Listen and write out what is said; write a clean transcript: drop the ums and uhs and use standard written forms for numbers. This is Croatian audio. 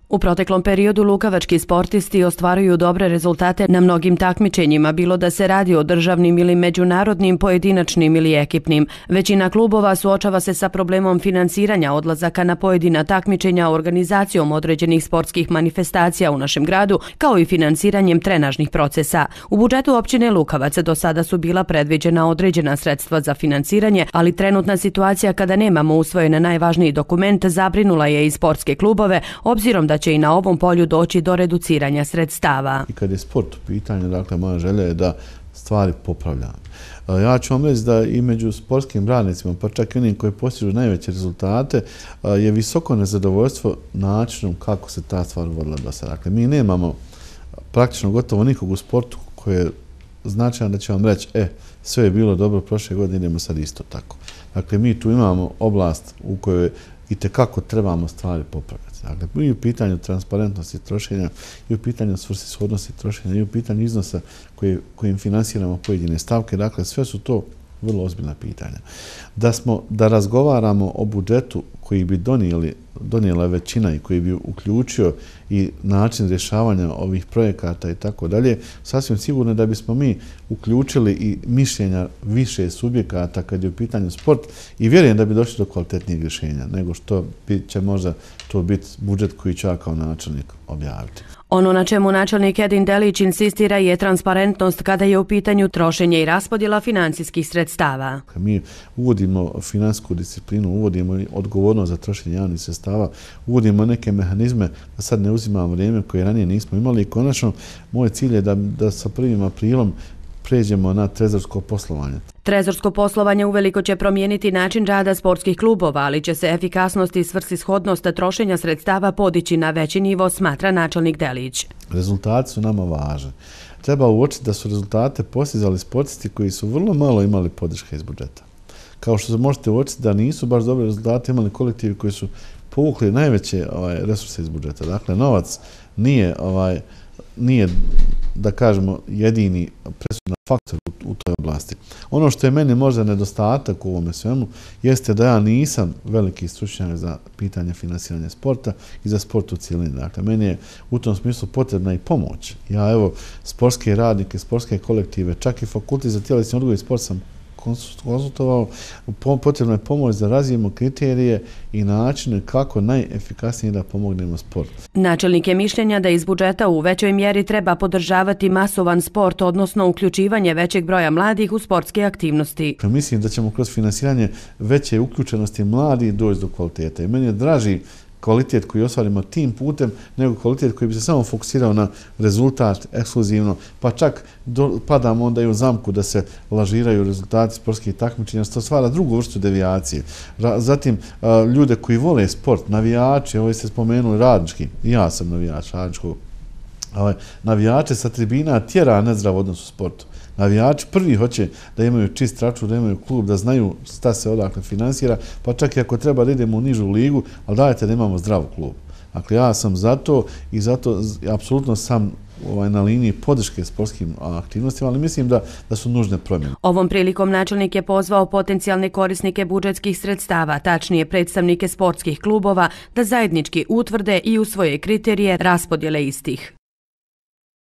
U proteklom periodu lukavački sportisti ostvaruju dobre rezultate na mnogim takmičenjima, bilo da se radi o državnim ili međunarodnim, pojedinačnim ili ekipnim. Većina klubova suočava se sa problemom finansiranja odlazaka na pojedina takmičenja organizacijom određenih sportskih manifestacija u našem gradu, kao i finansiranjem trenažnih procesa. U budžetu općine Lukavac do sada su bila predviđena određena sredstva za finansiranje, ali trenutna situacija kada nemamo usvojen najvažniji dokument zabrinula je i sportske klubove, obzirom da će i na ovom polju doći do reduciranja sredstava. I kad je sport u pitanju, dakle, moja želja je da stvari popravljam. Ja ću vam reći da i među sportskim radnicima, pa čak i onim koji postižu najveće rezultate, je visoko nezadovoljstvo načinom kako se ta stvar vodila do sada. Dakle, mi nemamo praktično gotovo nikog u sportu koji je značajan da će vam reći, sve je bilo dobro prošle godine, idemo sad isto tako. Dakle, mi tu imamo oblast u kojoj itekako trebamo stvari popravljati. Dakle, i u pitanju transparentnosti trošenja, i u pitanju svrsishodnosti trošenja, i u pitanju iznosa kojim finansiramo pojedine stavke. Dakle, sve su to vrlo ozbiljna pitanja. Da razgovaramo o budžetu koji bi donijela većina i koji bi uključio i način rješavanja ovih projekata i tako dalje, sasvim sigurno da bismo mi uključili i mišljenja više subjekata kad je u pitanju sport i vjerujem da bi došli do kvalitetnijeg rješenja nego što će možda to biti budžet koji će ja kao načelnik objaviti. Ono na čemu načelnik Edin Delić insistira je transparentnost kada je u pitanju trošenje i raspodjela financijskih sredstava. Mi uvodimo finansijsku disciplinu, uvodimo odgovornost za trošenje javnih sredstava, uvodimo neke mehanizme da sad ne uzimamo vrijeme koje ranije nismo imali i konačno moj cilj je da sa 1. aprilom pređemo na trezorsko poslovanje. Trezorsko poslovanje uveliko će promijeniti način rada sportskih klubova, ali će se efikasnost i svrsishodnost trošenja sredstava podići na veći nivo, smatra načelnik Delić. Rezultati su nama važni. Treba uočiti da su rezultate postizali sportisti koji su vrlo malo imali podrške iz budžeta. Kao što možete uočiti da nisu baš dobre rezultate imali kolektivi koji su povukli najveće resurse iz budžeta. Dakle, novac nije da kažemo jedini presudan faktor u toj oblasti. Ono što je meni možda nedostatak u ovome svemu jeste da ja nisam veliki stručnjak za pitanje finansiranja sporta i za sport u cjelini. Dakle, meni je u tom smislu potrebna i pomoć. Ja evo sportske radnike, sportske kolektive, čak i fakultet za tjelesni odgoj i sport sam konsultovao, potrebna je pomoć da razvijemo kriterije i načine kako najefikasnije da pomognemo sport. Načelnik je mišljenja da iz budžeta u većoj mjeri treba podržavati masovan sport, odnosno uključivanje većeg broja mladih u sportske aktivnosti. Mislim da ćemo kroz finansiranje veće uključenosti mladih doći do kvaliteta. I meni je draži kvalitet koji ostvarimo tim putem, nego kvalitet koji bi se samo fokusirao na rezultat ekskluzivno, pa čak padamo onda i u zamku da se lažiraju rezultati sportskih takmičenja, što stvara drugu vrstu devijacije. Zatim, ljude koji vole sport, navijači, ovo ste spomenuli radnički, ja sam navijač radničkog, navijače sa tribina tjera nezdrav odnos u sportu. Navijači prvi hoće da imaju čist račun, da imaju klub, da znaju šta se odakle finansira, pa čak i ako treba da idemo u nižu ligu, ali dajte da imamo zdrav klub. Dakle, ja sam za to i zato apsolutno sam na liniji podrške sportskim aktivnostima, ali mislim da su nužne promjene. Ovom prilikom načelnik je pozvao potencijalne korisnike budžetskih sredstava, tačnije predstavnike sportskih klubova, da zajednički utvrde i usvoje kriterije raspodjele istih.